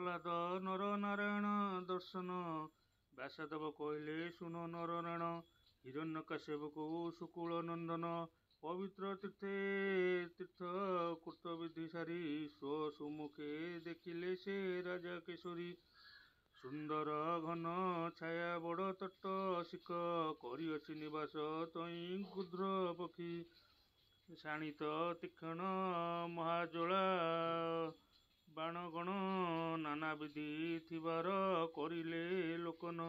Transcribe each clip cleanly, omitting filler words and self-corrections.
ପ୍ରହ୍ଲାଦ ନର ନାରାୟଣ ଦର୍ଶନ। ବ୍ୟାସଦେବ କହିଲେ, ଶୁଣ ନରରାଣ, ହିରଣ୍ୟକଶ୍ୟପକୁ ସୁକୁଳ ନନ୍ଦନ ପବିତ୍ର ତୀର୍ଥେ ତୀର୍ଥ କୃତବିଧି ସାରି ସ୍ୱ ଦେଖିଲେ ସେ ରାଜା କେଶରୀ। ସୁନ୍ଦର ଘନ ଛାୟା ବଡ଼ ତଟ ଶିଖ କରିଅଛି ନିବାସ ତହିଁ ଗୃଧ୍ର ପକ୍ଷୀ। ଶାଣିତ ତୀକ୍ଷ୍ଣ ମହାଜ୍ୱାଳା ବାଣଗଣ ନାନାବିଧି ଥିବାର କରିଲେ ଲୋକନ।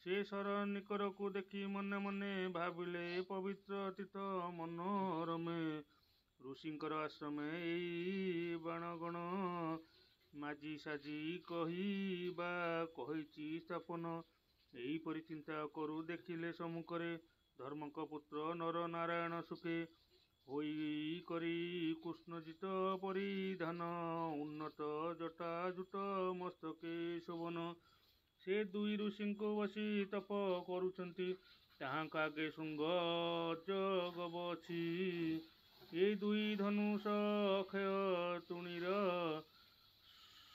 ସେ ଶର ନିକରକୁ ଦେଖି ମନେ ମନେ ଭାବିଲେ, ପବିତ୍ର ତୀର୍ଥ ମନୋରମେ ଋଷିଙ୍କର ଆଶ୍ରମେ ଏଇ ବାଣଗଣ ମାଜି ସାଜି କହି ବା କହିଛି ସ୍ଥାପନ। ଏହିପରି ଚିନ୍ତା କରୁ ଦେଖିଲେ ସମ୍ମୁଖରେ ଧର୍ମଙ୍କ ପୁତ୍ର ନର ନାରାୟଣ ସୁଖେ। ହୋଇ କରି କୃଷ୍ଣଜିତ ପରିଧାନ, ଉନ୍ନତ ଜଟାଜୁଟ ମସ୍ତକେ ଶୋଭନ। ସେ ଦୁଇ ଋଷିଙ୍କୁ ବସି ତପ କରୁଛନ୍ତି, ତାହାଙ୍କ ଆଗେ ଶୃଙ୍ଗ ଅଜଗବ ଅଛି। ଏଇ ଦୁଇ ଧନୁଷ ଅକ୍ଷୟ ତୁଣୀର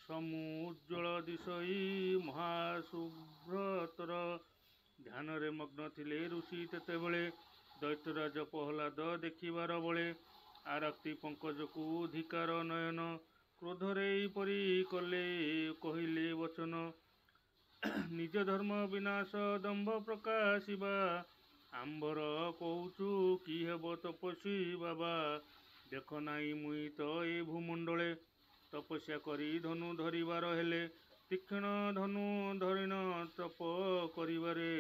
ସମୁଜ୍ଜ୍ୱଳ ଦିଶଇ ମହାଶୁଭ୍ରତର। ଧ୍ୟାନରେ ମଗ୍ନ ଥିଲେ ଋଷି ତେତେବେଳେ, ଦୈତ୍ୟରାଜ ପ୍ରହ୍ଲାଦ ଦେଖିବାର ବଳେ। ଆରକ୍ତି ପଙ୍କଜକୁ ଧିକ୍କାର ନୟନ, କ୍ରୋଧରେ ଏହିପରି କଲେ କହିଲେ ବଚନ। ନିଜ ଧର୍ମ ବିନାଶ ଦମ୍ଭ ପ୍ରକାଶିବା, ଆମ୍ଭର କହୁଛୁ କି ହେବ ତପସ୍ୱୀ ବାବା? ଦେଖ ନାହିଁ ମୁହିଁ ତ ଏ ଭୂମଣ୍ଡଳେ ତପସ୍ୟା କରି ଧନୁ ଧରିବାର ହେଲେ, ତୀକ୍ଷ୍ଣ ଧନୁ ଧରିଣ ତପ କରିବାରେ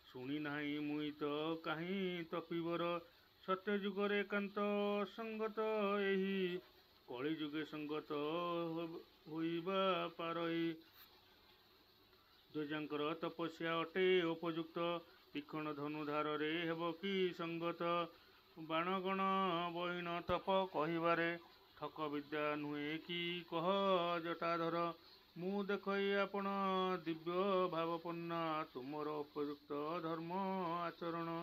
ଶୁଣି ନାହିଁ ମୁହିଁ ତ କାହିଁ ତପିବର। ସତ୍ୟଯୁଗରେ ଏକାନ୍ତ ଅସଙ୍ଗତ ଏହି, କଳିଯୁଗେ ସଙ୍ଗତ ହୋଇବା ପାରଇ। ଦ୍ୱିଜଙ୍କର ତପସ୍ୟା ଅଟେ ଉପଯୁକ୍ତ, ତୀକ୍ଷ୍ଣ ଧନୁଧାରରେ ହେବ କି ସଙ୍ଗତ? ବାଣଗଣ ବହିଣ ତପ କହିବାରେ ଠକ ବିଦ୍ୟା ନୁହେଁ କି କହ ଜଟାଧର? ମୁଁ ଦେଖଇ ଆପଣ ଦିବ୍ୟ ଭାବାପନ୍ନ, ତୁମର ଉପଯୁକ୍ତ ଧର୍ମ ଆଚରଣ।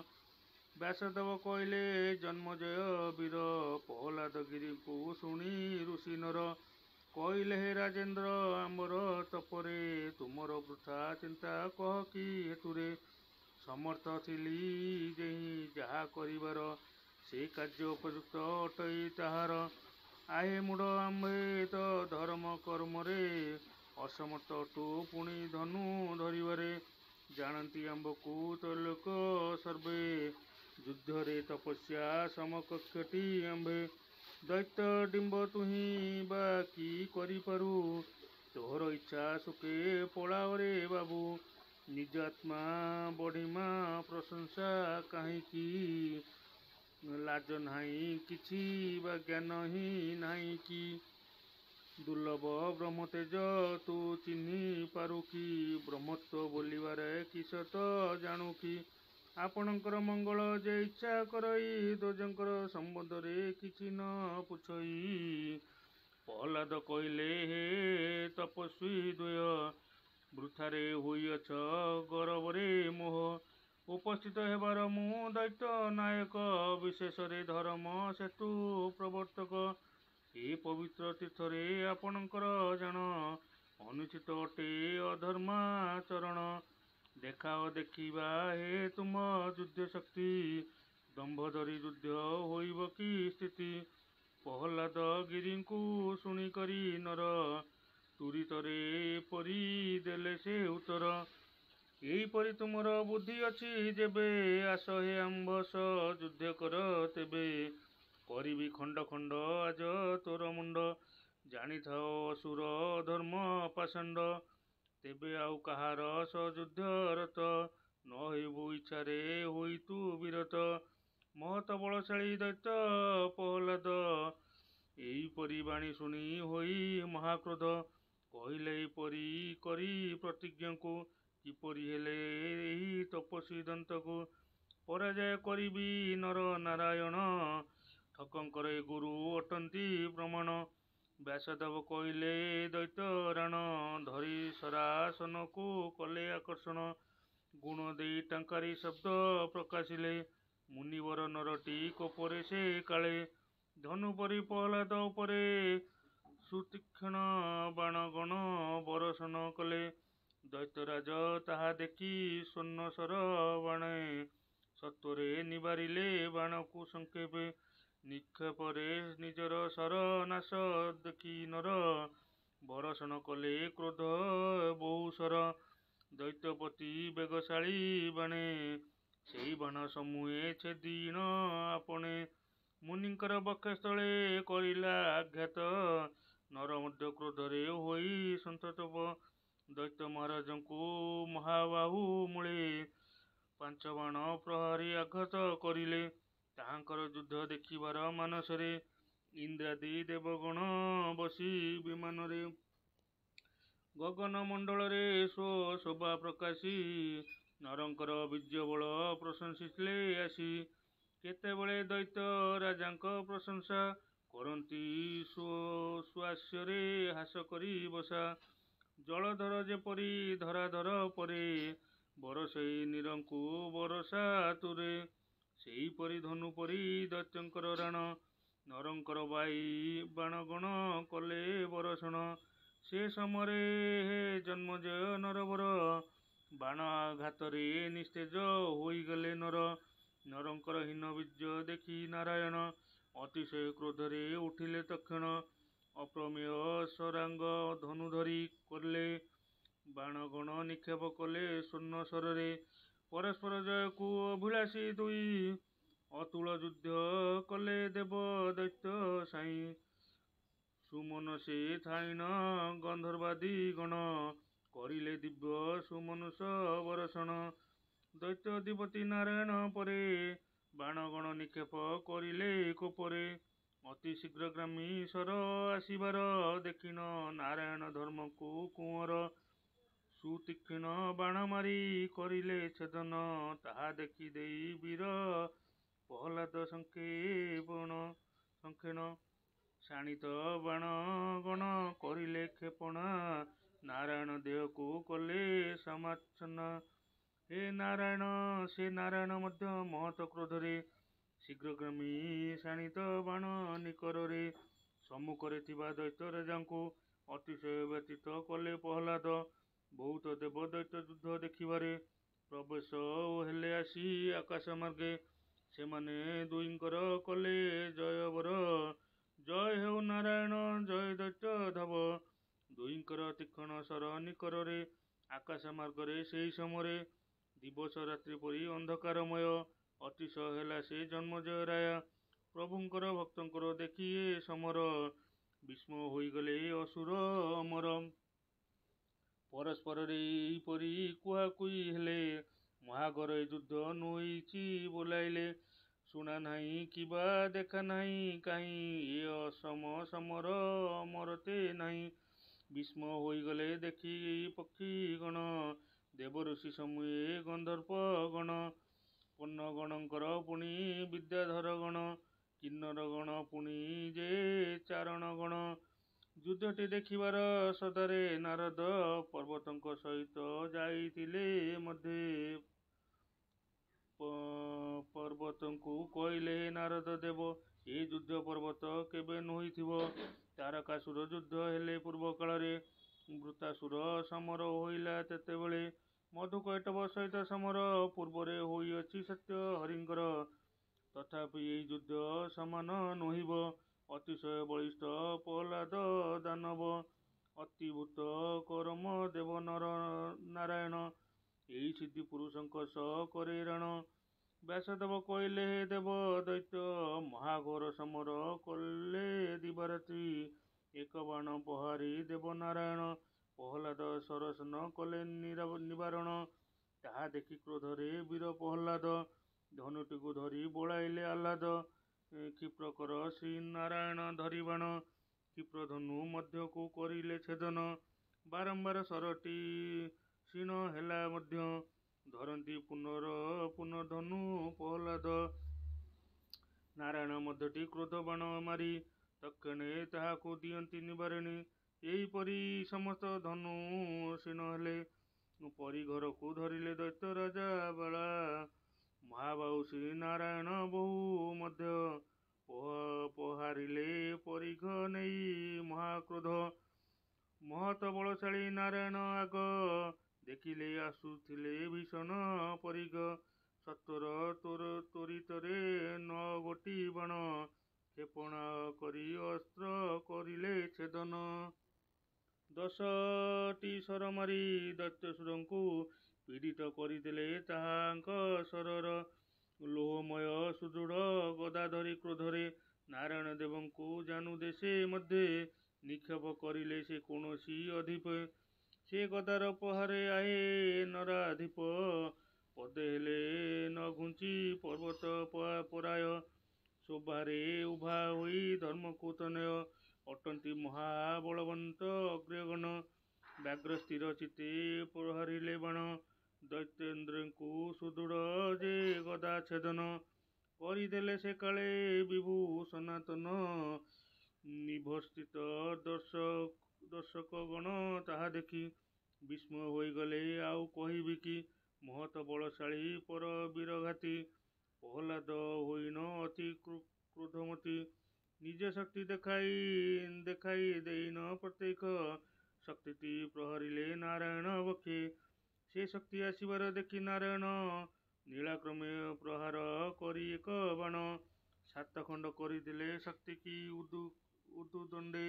ବ୍ୟାସଦେବ କହିଲେ, ଜନ୍ମଜୟ ବୀର ପ୍ରହ୍ଲାଦ ଗିରିଙ୍କୁ ଶୁଣି ଋଷି ନର କହିଲେ, ହେ ରାଜେନ୍ଦ୍ର, ଆମ୍ଭର ତପରେ ତୁମର ବୃଥା ଚିନ୍ତା କହ କି ହେତୁରେ? ସମର୍ଥ ଥିଲି ଯେହିଁ ଯାହା କରିବାର, ସେ କାର୍ଯ୍ୟ ଉପଯୁକ୍ତ ଅଟଇ ତାହାର। ଆହେ ମୂଢ଼, ଆମ୍ଭେ ତ ଧର୍ମ କର୍ମରେ ଅସମର୍ଥ ଅଟୁ, ପୁଣି ଧନୁ ଧରିବାରେ। ଜାଣନ୍ତି ଆମ୍ଭକୁ ତ୍ରୈଲୋକ୍ୟ ସର୍ବେ, ଯୁଦ୍ଧରେ ତପସ୍ୟା ସମକକ୍ଷଟି ଆମ୍ଭେ। ଦୈତ୍ୟ ଡିମ୍ବ ତୁହି ବା କି କରିପାରୁ? ତୋହର ଇଚ୍ଛା ସୁଖେ ପଳାଅରେ ବାବୁ। ନିଜ ଆତ୍ମା ବଢ଼ିମା ପ୍ରଶଂସା କାହିଁକି? ଲାଜ ନାହିଁ କିଛି ବା ଜ୍ଞାନ ହିଁ ନାହିଁ କି? ଦୁର୍ଲଭ ବ୍ରହ୍ମତେଜ ତୁ ଚିହ୍ନି ପାରୁ କି? ବ୍ରହ୍ମତ୍ୱ ବୋଲିବାରେ କିସ ତ ଜାଣୁ କି? ଆପଣଙ୍କର ମଙ୍ଗଳ ଯେ ଇଚ୍ଛା କରଇ, ଦ୍ୱିଜଙ୍କର ସମ୍ବନ୍ଧରେ କିଛି ନ ପୁଛଇ। ପ୍ରହ୍ଲାଦ କହିଲେ, ହେ ତପସ୍ୱୀ ଦ୍ୱୟ, ବୃଥାରେ ହୋଇଅଛ ଗରବରେ ମୋହ। ଉପସ୍ଥିତ ହେବାର ମୁଁ ଦୈତ୍ୟ ନାୟକ, ବିଶେଷରେ ଧର୍ମ ସେତୁ ପ୍ରବର୍ତ୍ତକ। ଏ ପବିତ୍ର ତୀର୍ଥରେ ଆପଣଙ୍କର ଜାଣ ଅନୁଚିତ ଅଟେ ଅଧର୍ମାଚରଣ। ଦେଖାଅ ଦେଖିବା ହେ ତୁମ ଯୁଦ୍ଧ ଶକ୍ତି, ଦମ୍ଭ ଧରି ଯୁଦ୍ଧ ହୋଇବ କି ସ୍ଥିତି? ପ୍ରହ୍ଲାଦ ଗିରିଙ୍କୁ ଶୁଣିକରି ନର ତୁରିତରେ ଏପରି ଦେଲେ ସେ ଉତ୍ତର। ଏହିପରି ତୁମର ବୁଦ୍ଧି ଅଛି ଯେବେ, ଆସ ହେ ଆମ୍ଭ ସହ ଯୁଦ୍ଧ କର ତେବେ। କରିବି ଖଣ୍ଡ ଖଣ୍ଡ ଆଜ ତୋର ମୁଣ୍ଡ, ଜାଣିଥାଅ ଅସୁର ଅଧର୍ମ ପାଷଣ୍ଡ। ତେବେ ଆଉ କାହାର ସହ ଯୁଦ୍ଧରତ ନ ହେବୁ, ଇଚ୍ଛାରେ ହୋଇ ତୁ ବିରତ। ମହତ ବଳଶାଳୀ ଦୈତ୍ୟ ପ୍ରହ୍ଲାଦ ଏହିପରି ବାଣୀ ଶୁଣି ହୋଇ ମହାକ୍ରୋଧ କହିଲେ ଏହିପରି କରି ପ୍ରତିଜ୍ଞକୁ, କିପରି ହେଲେ ଏହି ତପସ୍ୱୀ ଦନ୍ତକୁ ପରାଜୟ କରିବି ନର ନାରାୟଣ? ଠକଙ୍କର ଏ ଗୁରୁ ଅଟନ୍ତି ପ୍ରମାଣ। ବ୍ୟାସଦେବ କହିଲେ, ଦୈତ୍ୟ ରାଣ ଧରି ଶରାସନକୁ କଲେ ଆକର୍ଷଣ। ଗୁଣ ଦେଇ ଟଙ୍କାରି ଶବ୍ଦ ପ୍ରକାଶିଲେ ମୁନିବର ନରଟି କୋପରେ ସେ କାଳେ। ଧନୁ ପରି ପ୍ରହ୍ଲାଦ ଉପରେ ସୁତୀକ୍ଷ୍ଣ ବାଣଗଣ ବରଷଣ କଲେ। ଦୈତ୍ୟରାଜ ତାହା ଦେଖି ସ୍ୱର୍ଣ୍ଣଶର ବାଣେ ସତ୍ୱରେ ନିବାରିଲେ ବାଣକୁ ସଂକ୍ଷେପେ। ନିକ୍ଷେପରେ ନିଜର ଶର ନାଶ ଦେଖି ନର ବରଷଣ କଲେ କ୍ରୋଧ ବହୁଶର। ଦୈତ୍ୟପତି ବେଗଶାଳୀ ବାଣେ ସେହି ବାଣ ସମୂହେ ଛେଦିଣ ଆପଣେ। ମୁନିଙ୍କର ବକ୍ଷସ୍ଥଳେ କରିଲା ଆଘାତ ନର ମଧ୍ୟ କ୍ରୋଧରେ ହୋଇ ସନ୍ତପ୍ତ। ଦୈତ୍ୟ ମହାରାଜଙ୍କୁ ମହାବାହୁ ମୂଳେ 5 ବାଣ ପ୍ରହାରି ଆଘାତ କରିଲେ। ତାହାଙ୍କର ଯୁଦ୍ଧ ଦେଖିବାର ମାନସରେ ଇନ୍ଦ୍ରାଦି ଦେବଗଣ ବସି ବିମାନରେ ଗଗନ ମଣ୍ଡଳରେ ସ୍ୱ ଶୋଭା ପ୍ରକାଶି ନରଙ୍କର ବୀର୍ଯ୍ୟବଳ ପ୍ରଶଂସିଲେ ଆସି। କେତେବେଳେ ଦୈତ୍ୟ ରାଜାଙ୍କ ପ୍ରଶଂସା କରନ୍ତି ସ୍ୱହାସ୍ୟରେ ହ୍ରାସ କରି ବସା। ଜଳଧର ଯେପରି ଧରାଧର ପରେ ବରଷଇ ନୀରଙ୍କୁ ବରଷାତୁରେ, ସେହିପରି ଧନୁ ପରି ଦୈତ୍ୟଙ୍କର ରାଣ ନରଙ୍କର ବାଣଗଣ କଲେ ବରଷଣ। ସେ ସମୟରେ ହେ ଜନ୍ମେଜୟ ନରବର, ବାଣ ଆଘାତରେ ନିସ୍ତେଜ ହୋଇଗଲେ ନର। ନରଙ୍କର ହୀନ ବୀର୍ଯ୍ୟ ଦେଖି ନାରାୟଣ ଅତିଶୟ କ୍ରୋଧରେ ଉଠିଲେ ତକ୍ଷଣ। ଅପ୍ରମେୟ ଶରାଙ୍ଗ ଧନୁ ଧରି କଲେ ବାଣଗଣ ନିକ୍ଷେପ କଲେ ସ୍ୱର୍ଣ୍ଣ ଶରରେ। ପରସ୍ପର ଜୟକୁ ଅଭିଳାଷୀ ଦୁଇ ଅତୁଳ ଯୁଦ୍ଧ କଲେ ଦେବ ଦୈତ୍ୟ ସାଇଁ। ସୁମନସେ ଥାଇଣ ଗନ୍ଧର୍ବାଦି ଗଣ କରିଲେ ଦିବ୍ୟ ସୁମନସ ବରଷଣ। ଦୈତ୍ୟାଧିପତି ନାରାୟଣ ପରେ ବାଣଗଣ ନିକ୍ଷେପ କରିଲେ କୋପରେ। ଅତି ଶୀଘ୍ରଗାମୀ ଶର ଆସିବାର ଦେଖିଣ ନାରାୟଣ ଧର୍ମକୁ କୁଅଁର। ସୁତୀକ୍ଷ୍ଣ ବାଣ ମାରି କରିଲେ ଛେଦନ ତାହା ଦେଖି ଦେଇ ବୀର ପ୍ରହ୍ଲାଦ ସଂକ୍ଷେଣ। ଶାଣିତ ବାଣଗଣ କରିଲେ କ୍ଷେପଣା ନାରାୟଣ ଦେହକୁ କଲେ ସମାଚ୍ଛନ୍ନ। ହେ ନାରାୟଣ, ସେ ନାରାୟଣ ମଧ୍ୟ ମହତ କ୍ରୋଧରେ ଶୀଘ୍ରଗାମୀ ଶାଣିତ ବାଣ ନିକରରେ ସମ୍ମୁଖରେ ଥିବା ଦୈତ୍ୟ ରାଜାଙ୍କୁ ଅତିଶୟ ବ୍ୟଥିତ କଲେ ପ୍ରହ୍ଲାଦ। ବହୁତ ଦେବ ଦୈତ୍ୟ ଯୁଦ୍ଧ ଦେଖିବାରେ ପ୍ରବେଶ ହେଲେ ଆସି ଆକାଶ ମାର୍ଗେ। ସେମାନେ ଦୁହିଁଙ୍କର କଲେ ଜୟବର, ଜୟ ହେଉ ନାରାୟଣ, ଜୟ ଦୈତ୍ୟ ଧବ। ଦୁହିଁଙ୍କର ତୀକ୍ଷ୍ଣ ଶର ନିକରରେ ଆକାଶ ମାର୍ଗରେ ସେହି ସମୟରେ ଦିବସ ରାତ୍ରି ପରି ଅନ୍ଧକାରମୟ ଅତିଶୟ ହେଲା ସେ ଜନ୍ମେଜୟ ରାୟ। ପ୍ରଭୁଙ୍କର ଭକ୍ତଙ୍କର ଦେଖି ଏ ସମର ବିସ୍ମୟ ହୋଇଗଲେ ଅସୁର ଅମର। ପରସ୍ପରରେ ଏହିପରି କୁହାକୁହି ହେଲେ, ମହାଘୋର ଏ ଯୁଦ୍ଧ ନୋହିଛି ବୋଲାଇଲେ। ଶୁଣା ନାହିଁ କିବା ଦେଖା ନାହିଁ କାହିଁ ଏ ଅସମ ସମର ଅମରତେ ନାହିଁ। ବିସ୍ମୟ ହୋଇଗଲେ ଦେଖି ପକ୍ଷିଗଣ, ଦେବଋଷି ସମୂହେ ଗନ୍ଧର୍ପ ଗଣ, ପନ୍ନଗଣଙ୍କର ପୁଣି ବିଦ୍ୟାଧରଗଣ, କିନ୍ନରଗଣ ପୁଣି ଯେ ଚାରଣଗଣ। ଯୁଦ୍ଧଟି ଦେଖିବାର ସଦାରେ ନାରଦ ପର୍ବତଙ୍କ ସହିତ ଯାଇଥିଲେ ମଧ୍ୟେ। ପର୍ବତଙ୍କୁ କହିଲେ, ହେ ନାରଦ ଦେବ, ଏ ଯୁଦ୍ଧ ପର୍ବତ କେବେ ନୋହିଥିବ। ତାରକାସୁର ଯୁଦ୍ଧ ହେଲେ ପୂର୍ବକାଳରେ, ବୃତ୍ରାସୁର ସମର ହୋଇଲା ତେତେବେଳେ। ମଧୁକୈଟଭ ସହିତ ସମର ପୂର୍ବରେ ହୋଇଅଛି ସତ୍ୟ ହରିଙ୍କର, ତଥାପି ଏହି ଯୁଦ୍ଧ ସମାନ ନୋହିବ। ଅତିଶୟ ବଳିଷ୍ଠ ପ୍ରହ୍ଲାଦ ଦାନବ, ଅତିଭୂତ କରମ ଦେବ ନର ନାରାୟଣ ଏହି ସିଦ୍ଧି ପୁରୁଷଙ୍କ ସହ କରେ ରାଣ। ବ୍ୟାସଦେବ କହିଲେ, ହେ ଦେବ ଦୈତ୍ୟ, ମହାଘୋର ସମର କଲେ ଦିବାରାତ୍ରି। ଏକ ବାଣ ପ୍ରହାରି ଦେବ ନାରାୟଣ ପ୍ରହ୍ଲାଦ ଶରଶନ କଲେ ନିବାରଣ। ତାହା ଦେଖି କ୍ରୋଧରେ ବୀର ପ୍ରହ୍ଲାଦ ଧନୁଟିକୁ ଧରି ବଳାଇଲେ ଆହ୍ଲାଦ। କ୍ଷିପ୍ରକର ଶ୍ରୀନାରାୟଣ ଧରି ବାଣ କ୍ଷିପ୍ର ଧନୁ ମଧ୍ୟକୁ କରିଲେ ଛେଦନ। ବାରମ୍ବାର ଶରଟି କ୍ଷୀଣ ହେଲା ମଧ୍ୟ ଧରନ୍ତି ପୁନର୍ଧନୁ ପ୍ରହ୍ଲାଦ। ନାରାୟଣ ମଧ୍ୟଟି କ୍ରୋଧ ବାଣ ମାରି ତକ୍ଷଣେ ତାହାକୁ ଦିଅନ୍ତି ନିବାରିଣୀ। ଏହିପରି ସମସ୍ତ ଧନୁ କ୍ଷୀଣ ହେଲେ। ପରିଘକୁ ଧରିଲେ ଦୈତ୍ୟ ରାଜା ବେଳା। ମହାବାହୁ ଶ୍ରୀନାରାୟଣ ବହୁ ମଧ୍ୟ ପ୍ରହାରିଲେ ପରିଘ ନେଇ ମହାକ୍ରୋଧ। ମହତ ବଳଶାଳୀ ନାରାୟଣ ନାରାୟଣ ଆଗ ଦେଖିଲେ ଆସୁଥିଲେ ଭୀଷଣ ପରିଘ। ସତ୍ୱର ତ୍ୱରିତରେ 9 ଗୋଟି ବାଣ କ୍ଷେପଣ କରି ଅସ୍ତ୍ର କରିଲେ ଛେଦନ। 10ଟି ଶର ମାରି ଦୈତ୍ୟାସୁରଙ୍କୁ ପୀଡ଼ିତ କରିଦେଲେ ତାହାଙ୍କ ଶରର। ଲୌହମୟ ସୁଦୃଢ଼ ଗଦା ଧରି କ୍ରୋଧରେ ନାରାୟଣ ଦେବଙ୍କୁ ଜାନୁଦେଶେ ମଧ୍ୟେ ନିକ୍ଷେପ କରିଲେ ସେ କୌଣସି ଅଧିପେ। ସେ ଗଦାର ପ୍ରହାରେ ଆହେ ନରାଧିପ, ପଦେ ହେଲେ ନ ଘୁଞ୍ଚି ପର୍ବତ ପରାୟ। ଶୋଭାରେ ଉଭା ହୋଇ ଧର୍ମକୁ ତନୟ ଅଟନ୍ତି ମହାବଳବନ୍ତ ଅଗ୍ରଗଣ୍ୟ। ବ୍ୟାଘ୍ର ସ୍ଥିର ଚିତ୍ତେ ପ୍ରହାରିଲେ ବାଣ ଦୈତ୍ୟେନ୍ଦ୍ରଙ୍କୁ ସୁଦୃଢ଼ ଯେ ଗଦା ଛେଦନ କରିଦେଲେ ସେକାଳେ ବିଭୁ ସନାତନ। ନିଭସ୍ଥିତ ଦର୍ଶକଗଣ ତାହା ଦେଖି ବିସ୍ମୟ ହୋଇଗଲେ ଆଉ କହିବି କି। ମହତ ବଳଶାଳୀ ପର ବୀରଘାତୀ ପ୍ରହ୍ଲାଦ ହୋଇଣ ଅତି କ୍ରୋଧମତୀ। ନିଜ ଶକ୍ତି ଦେଖାଇ ଦେଖାଇ ଦେଇଣ ପ୍ରତ୍ୟକ୍ଷ ଶକ୍ତିଟି ପ୍ରହରିଲେ ନାରାୟଣ ବକ୍ଷେ। ସେ ଶକ୍ତି ଆସିବାର ଦେଖି ନାରାୟଣ ନୀଳାକ୍ରମେ ପ୍ରହାର କରି ଏକ ବାଣ ସାତଖଣ୍ଡ କରିଦେଲେ ଶକ୍ତିକି ଉଦୁଦଣ୍ଡେ।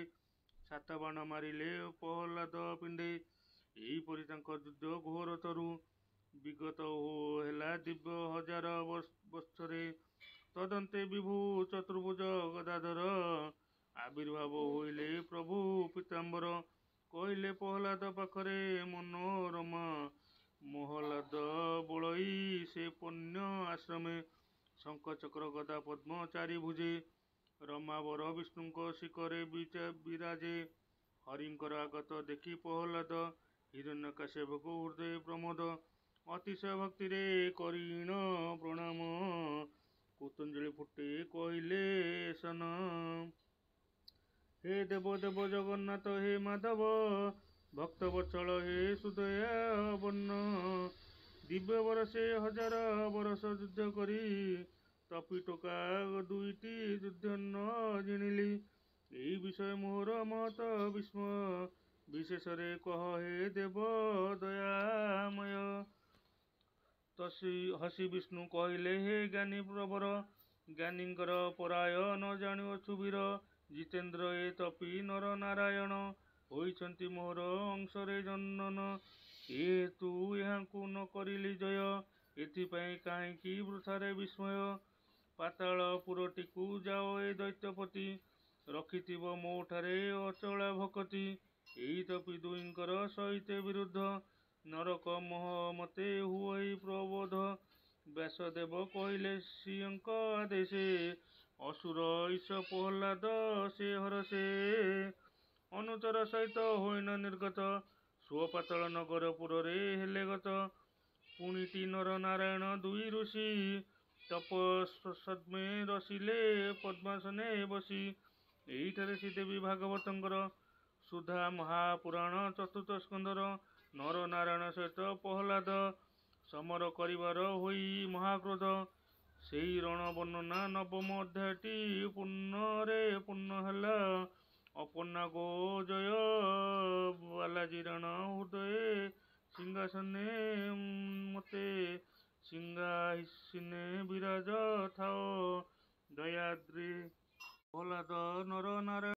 ସାତ ବାଣ ମାରିଲେ ପ୍ରହ୍ଲାଦ ପିଣ୍ଡେ। ଏହିପରି ତାଙ୍କ ଯୁଦ୍ଧ ଘୋରତରୁ ବିଗତ ହେଲା ଦିବ୍ୟ ହଜାର ବତ୍ସରେ। ତଦନ୍ତେ ବିଭୁ ଚତୁର୍ଭୁଜ ଗଦାଧର ଆବିର୍ଭାବ ହୋଇଲେ ପ୍ରଭୁ ପୀତାମ୍ବର। କହିଲେ ପ୍ରହ୍ଲାଦ ପାଖରେ ମନୋରମା ମହ୍ଲାଦ ବଳଇ ସେ ପଣ୍ୟ ଆଶ୍ରମେ। ଶଙ୍ଖ ଚକ୍ର ଗଦା ପଦ୍ମ ଚାରିଭୁଜେ ରମାବର ବିଷ୍ଣୁଙ୍କ ଶିଖରେ ବିରାଜେ। ହରିଙ୍କର ଆଗତ ଦେଖି ପ୍ରହ୍ଲାଦ ହିରଣ୍ୟକଶ୍ୟପକୁ ହୃଦୟେ ପ୍ରମୋଦ। ଅତିଶୟ ଭକ୍ତିରେ କରିଣ ପ୍ରଣାମ କୃତାଞ୍ଜଳି ପୁଟେ କହିଲେ ଏସନ। ହେ ଦେବ ଦେବ ଜଗନ୍ନାଥ ହେ ମାଧବ, ଭକ୍ତବତ୍ସଳ ହେ ସୁଦୟାବର୍ଣ୍ଣ। ଦିବ୍ୟ ବରଷେ ହଜାର ବରଷ ଯୁଦ୍ଧ କରି ତପି ଟୋକା ଦୁଇଟି ଯୁଦ୍ଧ ନ ଜିଣିଲି। ଏହି ବିଷୟ ମୋହର ମହତ ବିସ୍ମୟ, ବିଶେଷରେ କହ ହେ ଦେବ ଦୟାମୟ। ହସି ବିଷ୍ଣୁ କହିଲେ ହେ ଜ୍ଞାନୀ ପ୍ରବର, ଜ୍ଞାନୀଙ୍କର ପରାୟ ନ ଜାଣୁଅଛୁ ବୀର। ଜିତେନ୍ଦ୍ରିୟ ଏ ତପି ନର ନାରାୟଣ ହୋଇଛନ୍ତି ମୋହର ଅଂଶରେ ଜନନ। ଏ ହେତୁ ଏହାଙ୍କୁ ନ କରିଲି ଜୟ, ଏଥିପାଇଁ କାହିଁକି ବୃଥାରେ ବିସ୍ମୟ। ପାତାଳ ପୁରଟିକୁ ଯାଅ ଏ ଦୈତ୍ୟପତି, ରଖିଥିବ ମୋଠାରେ ଅଚଳା ଭକତି। ଏହି ତପି ଦୁହିଁଙ୍କର ସହିତେ ବିରୁଦ୍ଧ ନରକ ମତେ ହୁଅଇ ପ୍ରବୋଧ। ବ୍ୟାସଦେବ କହିଲେ ସିଂହଙ୍କ ଆଦେଶେ ଅସୁର ଈଶ ପ୍ରହ୍ଲାଦ ସେ ହରଷେ। ଅନୁଚର ସହିତ ହୋଇଣ ନିର୍ଗତ ସ୍ୱ ପାତାଳ ନଗର ପୁରରେ ହେଲେ ଗତ। ପୁଣିଟି ନର ନାରାୟଣ ଦୁଇ ଋଷି ତପସ୍ସଦ୍ମେ ରସିଲେ ପଦ୍ମାସନେ ବସି। ଏହିଠାରେ ଶ୍ରୀଦେବୀ ଭାଗବତଙ୍କର ସୁଧା ମହାପୁରାଣ ଚତୁର୍ଥ ସ୍କନ୍ଧର ନର ନାରାୟଣ ସହିତ ପ୍ରହ୍ଲାଦ ସମର କରିବାର ହୋଇ ମହାକ୍ରୋଧ ସେହି ରଣ ବର୍ଣ୍ଣନା ନବମ ଅଧ୍ୟାୟଟି ପୂର୍ଣ୍ଣରେ ପୂର୍ଣ୍ଣ ହେଲା। ଅପର୍ଣ୍ଣା ଗୋ ଜୟ ବାଲାଜୀ ରାଣ ହୃଦୟେ ସିଂହାସନେ ମତେ ସିଂହାସିନେ ବିରାଜ ଥାଅ ଦୟାଦ୍ରି। ପ୍ରହ୍ଲାଦ ନର ନାରାୟଣ।